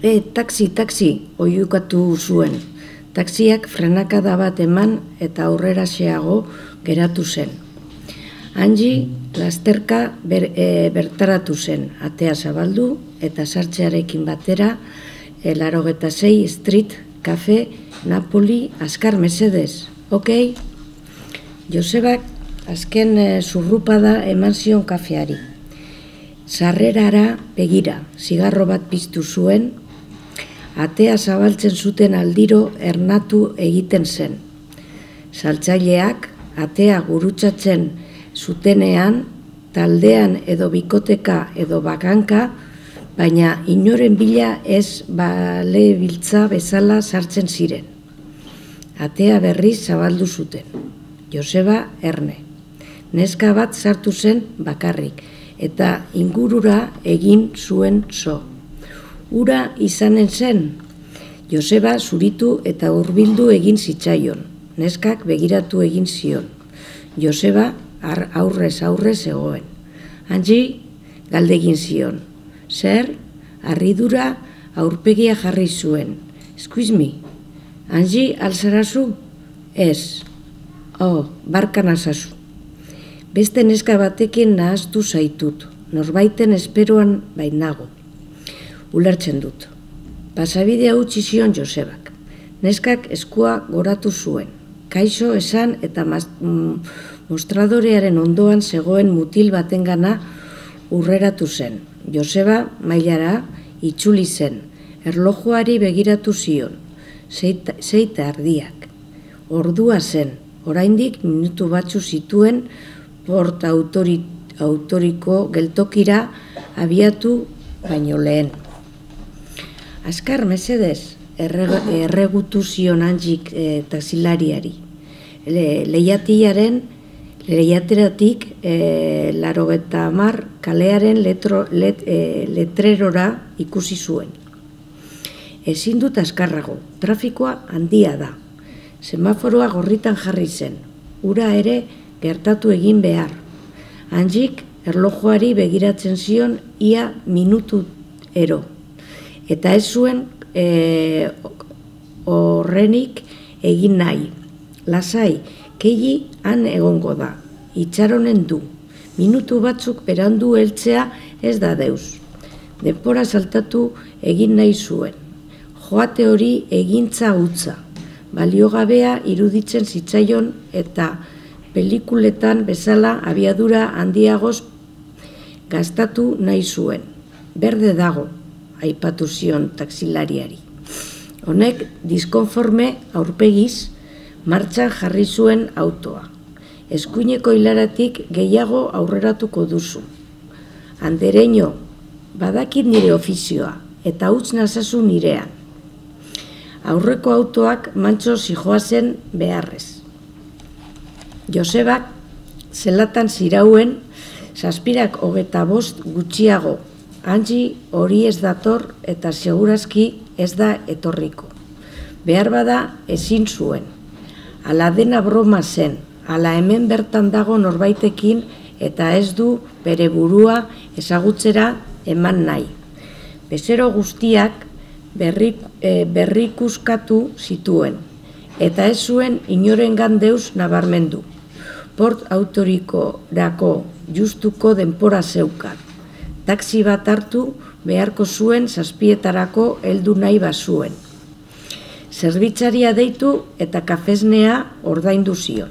Taxi, oiukatu zuen. Taxiak frenakada bat eman eta aurrera xeago geratu zen. Angie lasterka bertaratu zen, atea zabaldu eta sartzearekin batera 86 Street Cafe Napoli azkar mesedez, ok? Josebak azken zurrupada eman zion kafeari. Sarrerara begira, zigarro bat piztu zuen, atea zabaltzen zuten aldiro ernatu egiten zen. Saltzaileak atea gurutzatzen zutenean, taldean edo bikoteka edo bakanka, baina inoren bila ez balebiltza bezala sartzen ziren. Atea berriz zabaldu zuten. Joseba erne. Neska bat sartu zen bakarrik, eta ingurura egin zuen zo. Ura izanen zen. Joseba zuritu eta hurbildu egin zitzaion. Neskak begiratu egin zion. Joseba aurrez zegoen. Angie galdegin zion. Zer, harridura aurpegia jarri zuen. Excuse me, Angie alzarazu? Ez. Barka nazazu. Beste neska batekin nahaztu zaitut. Norbaiten esperoan bainago. Ulertzen dut. Pasabidea utzi zion Josebak. Neskak eskua goratu zuen. Kaixo esan eta mostradorearen ondoan zegoen mutil batengana urreratu zen. Joseba mailara itzuli zen. Erlojuari begiratu zion. 6:00 Ordua zen. Oraindik minutu batzu zituen Port Autoriko geltokira abiatu baino lehen. Azkar mesedez, erregutu zion Angiek taxilariari. Lehiateratik 80 kalearen letrerora ikusi zuen. Ezin dut azkarrago, trafikoa handia da. Semaforoa gorritan jarri zen, ura ere gertatu egin behar. Angiek erlojuari begiratzen zion ia minutu ero. Eta ez zuen horrenik egin nahi. Lasai, Kelly han egongo da, itxaronen du. Minutu batzuk berandu heltzea ez da deus. Denbora saltatu egin nahi zuen. Joate hori egintza hutsa. Baliogabea iruditzen zitzaion eta pelikuletan bezala abiadura handiagoz gastatu nahi zuen. Berde dago, aipatu zion taxilariari. Honek diskonforme aurpegiz martxan jarri zuen autoa. Eskuineko hilaratik gehiago aurreratuko duzu. Andereño, badakit nire ofizioa, eta utz nazazu nirean. Aurreko autoak mantso zijoazen beharrez. Josebak zelatan zirauen 7:25 gutxiago. Angie hori ez dator eta segurazki ez da etorriko. Behar bada ezin zuen. Ala dena broma zen, ala hemen bertan dago norbaitekin eta ez du bere burua ezagutzera eman nahi. Bezero guztiak berrikuskatu zituen, eta ez zuen inorengan deus nabarmendu. Port Autorikorako justuko denpora zeukan. Taxi bat hartu beharko zuen 7:00 heldu nahi bazuen. Zerbitzaria deitu eta kafesnea ordaindu zion.